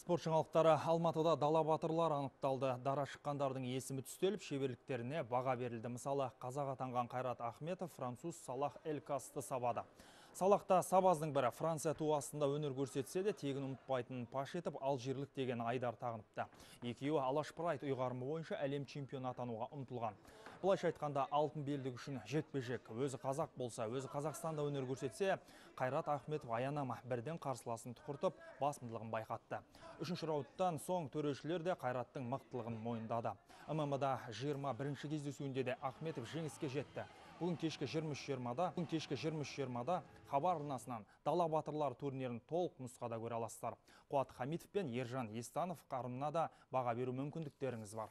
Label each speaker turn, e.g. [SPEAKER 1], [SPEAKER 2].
[SPEAKER 1] Спорт жаңалықтары. Алматыда дала батырлар анықталды. Дара шыққандардың есімі түстеліп, шеберліктеріне баға берілді. Мысалы, қазақ атанған Қайрат Ахметов француз Салах Элькасты сабады. Салахта сабаздың бірі Франция туы астында өнер көрсетсе де, тегін ұмытпайтынын паш етіп, алжирлік деген айдар тағыныпты. Екеуі Алаш Прайд ұйғарымы бойынша әлем чемпионы атануға ұмтылған. Бұлайша айтқанда, алтын белдік үшін жекпе-жек. Өзі қазақ болса, өзі Қазақстанда өнер көрсетсе, Қайрат Ахметов аянама бірден қарсыласын тұқыртып, басымдылығын байқатты. Үшінші раундтан соң төрешілер де Қайраттың мықтылығын мойындады. ММА-да 21-ші кездесуінде де Ахметов жеңіске жетті. Бүгін кешкі 23:20-да хабар арнасынан дала батырлар турнирін толық нұсқада көре аласыздар. Қуат Хамитов пен Ержан Естанов қарымына да баға беру мүмкіндіктеріңіз бар.